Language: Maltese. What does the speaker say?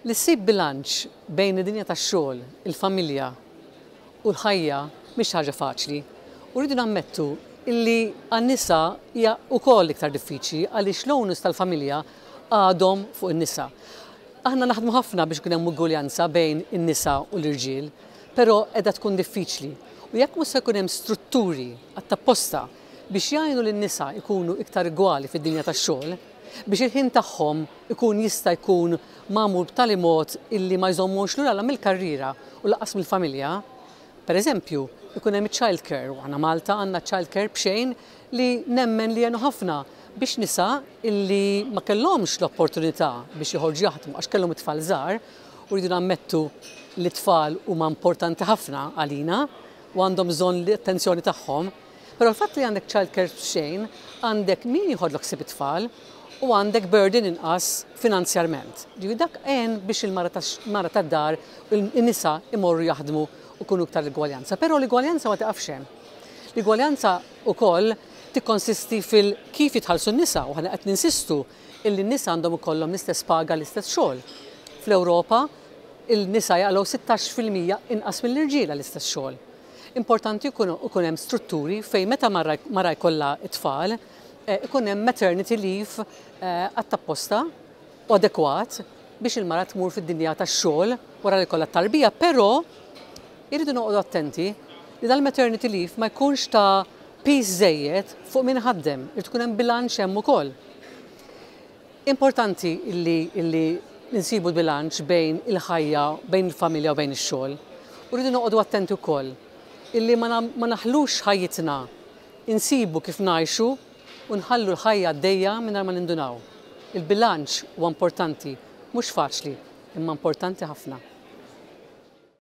Li ssib bilanċ bejn id-dinja tax-xogħol, il-familja u l-ħajja mhix ħaġa faċli. U rridu nammettu illi għan-nisa hija wkoll iktar diffiċli għaliex l-onus tal-familja għadhom fuq in-nisa. Aħna naħdmu ħafna biex ikun hemm ugwaljanza bejn in-nisa u l-irġiel, però qiegħda tkun diffiċli. U jekk mhux se jkun hemm strutturi għat-tapposta biex jgħinu lin-nisa jkunu iktar igwali fid-dinja tax-xogħol, biex il-ħin tagħhom ikun jista' jkun magħmul b'tali mod illi ma jżommux lura la mill-karriera u lanqas mill-familja. Per eżempju, ikun hemm child care, u aħna Malta għandna child care b'xejn li nemmen li jgħinu ħafna biex nisa illi ma kellhomx l-opportunità biex joħorġu jaħdmu għax kellhom it-tfal żgħar, u rridu nammettu li t-tfal huma importanti ħafna għalina u għandhom bżonn l-attenzjoni tagħhom. Però l-fatt li għandek child care b'xejn, għandek min jieħodlok ħsieb it-tfal u għandek burden inqas finanzjarment. Ġifieri dak għen biex il-mara tad-dar, in-nisa imorru jaħdmu u jkunu iktar l-igwaljanza. Però l-igwaljanza ma tiqafx hemm. L-igwaljanza wkoll tikkonsisti fil-kif jitħallsu n-nisa, u aħna qed ninsistu illi n-nisa għandhom ikollhom l-istess paga, l-istess xogħol. Fl-Ewropa il-nisa jaqilgħu 16% inqas mill-irġiel għall-istess xogħol. Importanti jkun hemm strutturi fejn meta mara jkollha t-tfal, ikun hemm maternity leave għat-tapposta u adekwat biex il-mara tmur fid-dinja tax-xogħol wara li jkollha t-tarbija, però irridu noqogħdu attenti li dal-maternity leave ma jkunx ta' piż żejjed fuq min ħaddem, irid ikun hemm bilanċ hemm ukoll. Importanti illi nsibu bilanċ bejn il-ħajja, bejn il-familja u bejn ix-xogħol. U rridu noqogħdu attenti wkoll illi ma naħlux ħajjitna, insibu kif ngħixu u nħallu l-ħajja għaddejja mingħajr ma nindunaw. Il-bilanċ huwa importanti, mhux faċli, imma importanti ħafna.